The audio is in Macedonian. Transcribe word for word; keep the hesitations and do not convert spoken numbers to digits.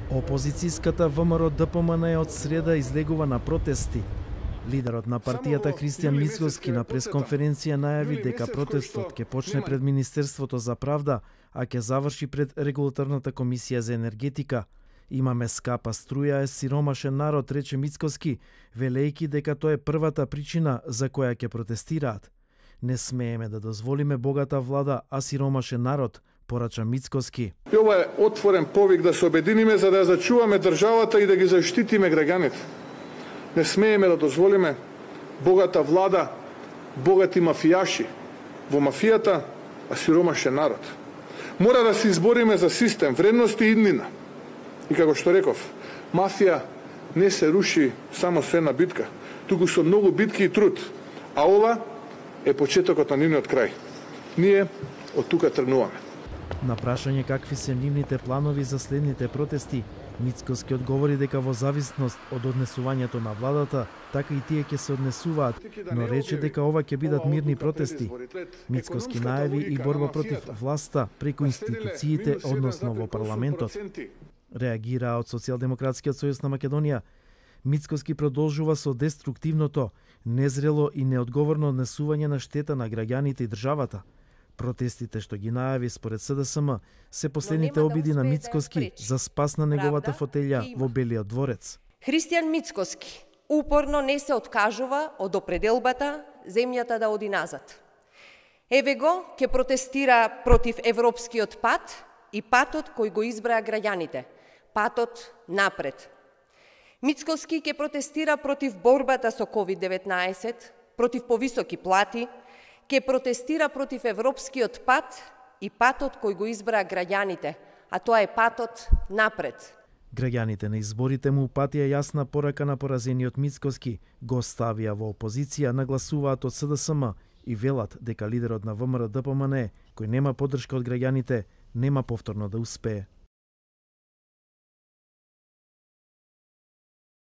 Опозицијската ВМРО Д П М Н од среда излегува на протести. Лидерот на партијата Христијан Мицкоски на пресконференција најави дека протестот ќе почне пред Министерството за правда, а ќе заврши пред Регулаторната комисија за енергетика. Имаме скапа струја, е сиромашен народ, рече Мицкоски, велејки дека тоа е првата причина за која ќе протестираат. Не смееме да дозволиме богата влада, а сиромашен народ, порача Мицкоски. И ова е отворен повик да се обединиме за да ја зачуваме државата и да ги заштитиме граѓаните. Не смееме да дозволиме богата влада, богати мафијаши во мафијата, а сиромашен народ. Мора да се избориме за систем, вредности и иднина. И како што реков, мафија не се руши само со една битка, туку со многу битки и труд. А ова е почетокот на нивниот крај. Ние од тука тргнуваме. На прашање какви се нивните планови за следните протести, Мицкоски одговори дека во зависност од однесувањето на владата, така и тие ќе се однесуваат, но рече дека ова ќе бидат мирни протести. Мицкоски најави и борба против власта преку институциите, односно во парламентот. Реагира од Социјалдемократскиот сојуз на Македонија. Мицкоски продолжува со деструктивното, незрело и неодговорно однесување на штета на граѓаните и државата. Протестите што ги најави според С Д С М се последните обиди на Мицкоски за спас на неговата фотелја во Белиот дворец. Христијан Мицкоски упорно не се откажува од определбата земјата да оди назад. Еве го ќе протестира против европскиот пат и патот кој го избраа граѓаните, патот напред. Мицкоски ќе протестира против борбата со ковид деветнаесет, против повисоки плати, ќе протестира против европскиот пат и патот кој го избраа граѓаните, а тоа е патот напред. Граѓаните на изборите му упатија јасна порака на поразениот Мицкоски, го ставија во опозиција, нагласуваат од С Д С М и велат дека лидерот на ВМРО Д П М Н, кој нема поддршка од граѓаните, нема повторно да успее.